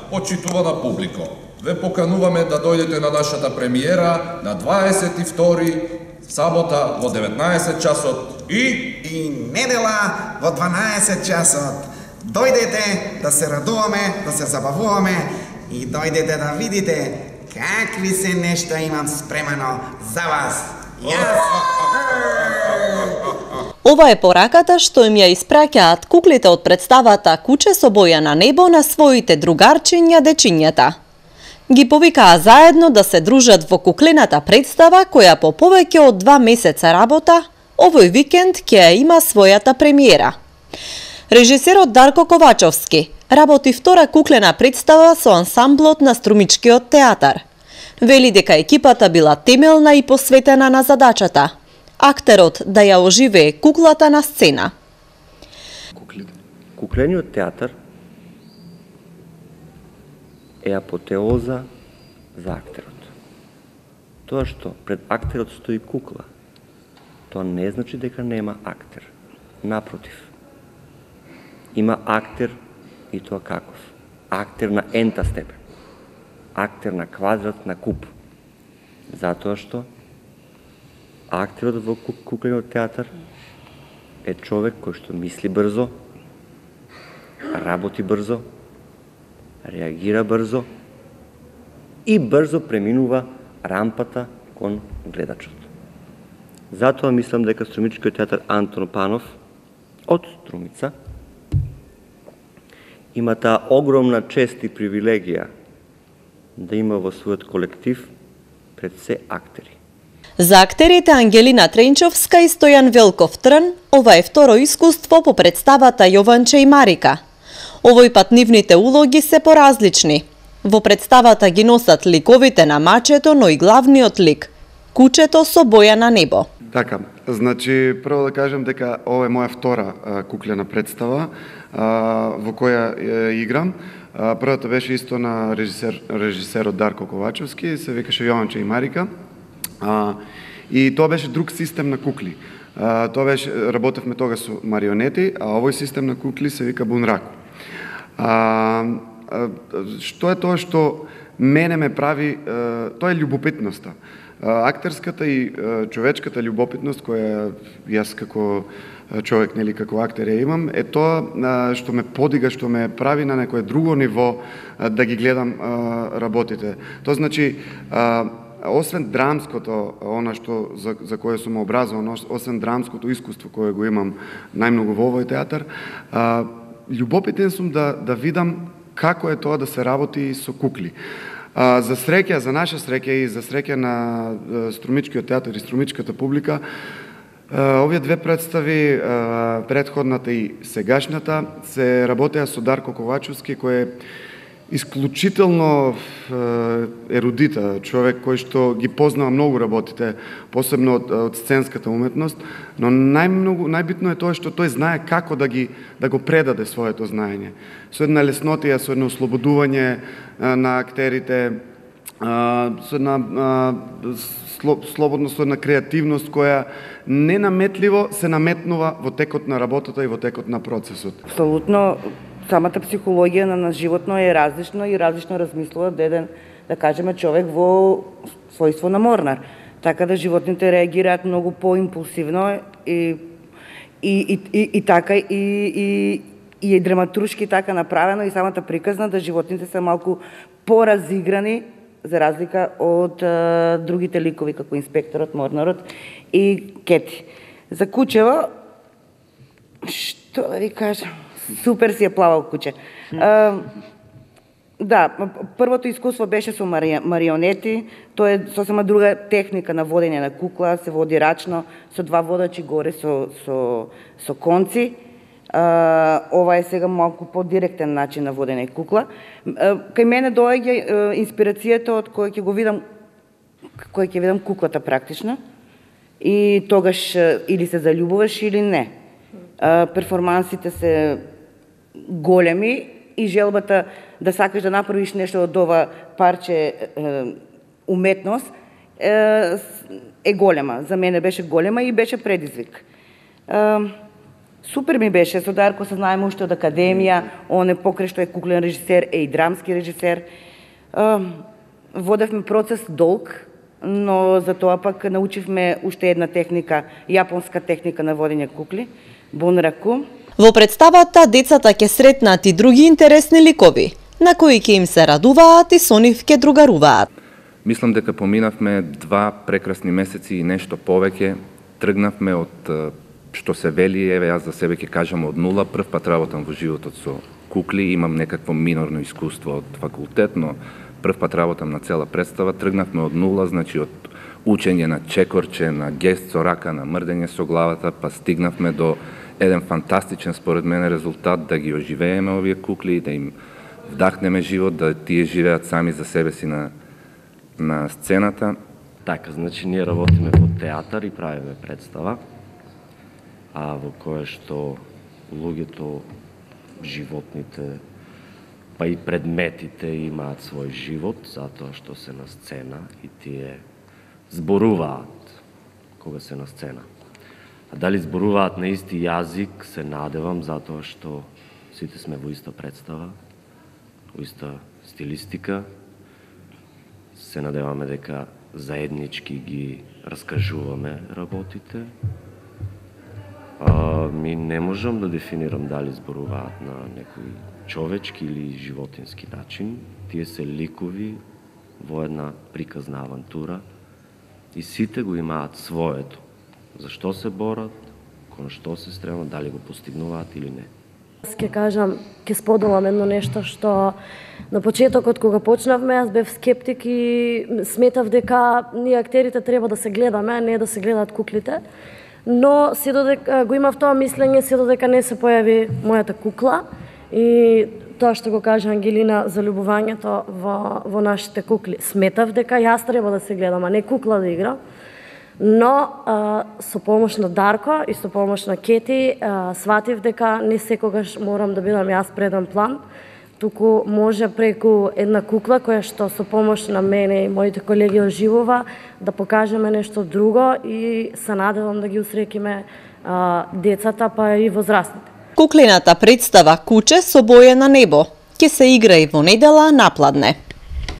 почитувана публико, ве покануваме да дојдете на нашата премиера на 22 сабота во 19 часот и недела во 12 часот. Дојдете да се радуваме, да се забавуваме и дојдете да видите какви се нешта имам спремано за вас. Ова е пораката што им ја испраќаат куклите од представата Куче со боја на небо на своите другарчиња дечињата. Ги повикаа заедно да се дружат во куклената представа која по повеќе од 2 месеца работа овој викенд ќе ја има својата премиера. Режисерот Дарко Ковачовски работи втора куклена представа со ансамблот на Струмичкиот театар. Вели дека екипата била темелна и посветена на задачата актерот да ја оживее куклата на сцена. Куклениот театар е апотеоза за актерот. Тоа што пред актерот стои кукла, тоа не значи дека нема актер. Напротив, има актер и тоа каков. Актер на ента степен. Актер на квадрат, на куп. Затоа што актерот во куклениот театар е човек кој што мисли брзо, работи брзо, реагира брзо и брзо преминува рампата кон гледачот. Затоа мислам дека Струмичкиот театар Антон Панов од Струмица има таа огромна чест и привилегија да има во својот колектив пред се актери. За актерите Ангелина Тренчовска и Стојан Велков Трн, ова е второ искуство по представата Јованче и Марика. Овој пат нивните улоги се поразлични. Во представата ги носат ликовите на мачето, но и главниот лик – Кучето со боја на небо. Така, значи, прво да кажем дека ова е моја втора куклена представа во која играм. Првата беше исто на режисерот Дарко Ковачовски, се викаше Јованче и Марика. И тоа беше друг систем на кукли. Тоа беше, работевме тога со марионети, а овој систем на кукли се вика Бунраку. Што е тоа што мене ме прави, тоа е љубопитноста. Актерската и човечката љубопитност која јас како човек, нели, како актер ја имам, е тоа што ме подига, што ме прави на некое друго ниво да ги гледам работите. Тоа значи, освен драмското, она што за кое сум образован, освен драмското искуство кое го имам најмногу во овој театар, љубопитен сум да видам како е тоа да се работи со кукли. За среќа, за наша среќа и за среќа на Струмичкиот театар и струмичката публика, овие две представи, претходната и сегашната, се работеа со Дарко Ковачовски, кој е исклучително ерудита, човек кој што ги познава многу работите, посебно од сценската уметност, но најбитно е тоа што тој знае како да го предаде своето знаење. Со една леснотија, со едно ослободување на актерите, со една слободно, со една креативност која ненаметливо се наметнува во текот на работата и во текот на процесот. Апсолутно, самата психологија на животно е различна и различно размислува деден, да кажеме, човек во својство на морнар. Така да животните реагираат многу поимпулсивно и така и драматуршки така направено и самата приказна да животните се малку поразиграни за разлика од другите ликови како инспекторот, морнарот и Кети. За Кучево, што да ви кажам, супер си е плавал Куче. Да, првото искуство беше со марионети, тоа е сосема друга техника на водење на кукла, се води рачно, со два водачи горе со конци. Ова е сега малку по-директен начин на водење кукла. Кај мене доаѓа инспирацијата од кој ќе видам куклата практично и тогаш или се заљубуваш или не. Перформансите се големи и желбата да сакаш да направиш нешто од ова парче уметност е голема. За мене беше голема и беше предизвик. Супер ми беше, со Дарко се знаеме уште од академија, он е покрај што е куклен режисер, е и драмски режисер. Водевме процес долг, но за тоа пак научивме уште една техника, јапонска техника на водење кукли, бунраку. Во представата децата ќе сретнат и други интересни ликови, на кои ќе им се радуваат и со нив ќе другаруваат. Мислам дека поминавме 2 прекрасни месеци и нешто повеќе. Тргнавме од, што се вели, еве јас за себе ќе кажам, од нула. Прв пат работам во животот со кукли, имам некакво минорно искуство од факултет, но прв пат работам на цела представа. Тргнавме од нула, значи од учење на чекорче, на гест со рака, на мрдење со главата, па стигнавме до еден фантастичен, според мене, резултат да ги оживееме овие кукли, да им вдахнеме живот, да тие живеат сами за себе си на сцената. Така, значи ние работиме во театар и правиме представа, во кое што луѓето, животните, па и предметите имаат свој живот, затоа што се на сцена и тие зборуваат кога се на сцена. А дали зборуваат на исти јазик, се надевам, затоа што сите сме во иста представа, во иста стилистика. Се надеваме дека заеднички ги раскажуваме работите. Ми не можам да дефинирам дали зборуваат на некој човечки или животински начин. Тие се ликови во една приказна авантура и сите го имаат своето. Зашто се борат, кон што се стремат, дали го постигнуваат или не. Ке кажам, ке споделам едно нешто што на почетокот кога почнавме, јас бев скептик и сметав дека ние актерите треба да се гледаме, а не да се гледаат куклите. Но се додека го имав тоа мислење, се додека не се појави мојата кукла и тоа што го кажа Ангелина за љубувањето во нашите кукли. Сметав дека јас треба да се гледам, а не кукла да игра. Но со помош на Дарко и со помош на Кети сватив дека не секогаш морам да бидам јас преден план, туку може преку една кукла која што со помош на мене и моите колеги оживува да покажеме нешто друго и се надевам да ги усрекиме децата па и возрастните. Куклената представа Куче со боја на небо ќе се игра и во недела напладне.